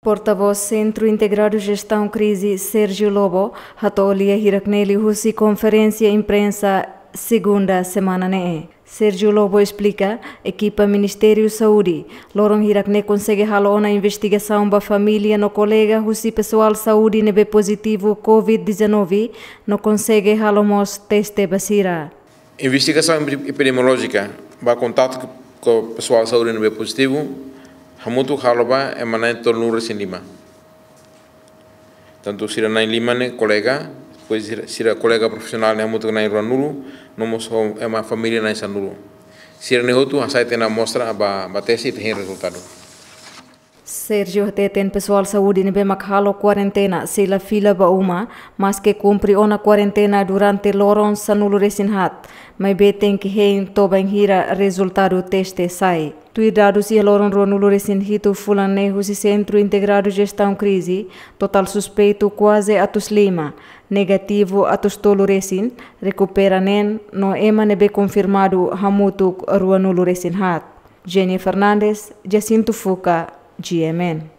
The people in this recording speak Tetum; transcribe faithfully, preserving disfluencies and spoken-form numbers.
Portavós Sentru Integradu Jestaun Krize, Sérgio Lobo, hato'o lia hirak-ne'e liuhusi konferénsia imprensa segunda semana ne'e. Sérgio Lobo esplika, ekipa Ministériu Saúde loron hirak-ne'e konsege halo ona investigasaun ba família no kolega husi pesoál saúde ne'ebé pozitivu covid dezanove, no konsege halo mós teste ba sira. Investigasaun epidemiolójika ba kontatu ho pesoál saúde ne'ebé pozitivu, hamutuk halo ba ema na'in tolunulu-resin-lima. Tantu sira na'in lima ne'e kolega, depois sira, sira kolega profisionál ne'e hamutuk na'in ruanulu, no mós ho ema família na'in sanulu. Sira-ne'e hotu hasai tiha ona amostra ba, ba teste ita hein rezultadu. Sérgio hateten pesoál saúde ne'ebé mak halo kuarentena sei la fila ba uma, maske kumpre ona kuarentena durante loron sanulu-resin-haat, maibé tenke hein to'o bainhira rezultadu teste sai. Tuir dadus iha loron ruanulu-resin-hitu fulan ne'e husi Sentru Integradu Jestaun Krize, totál suspeitu kuaze atus lima, negativu atus tolu-resin, rekupera neen, no ema ne'ebé konfirmadu hamutuk ruanulu-resin-haat. Jenny Fernandes, Jacinto Fuca, G M N.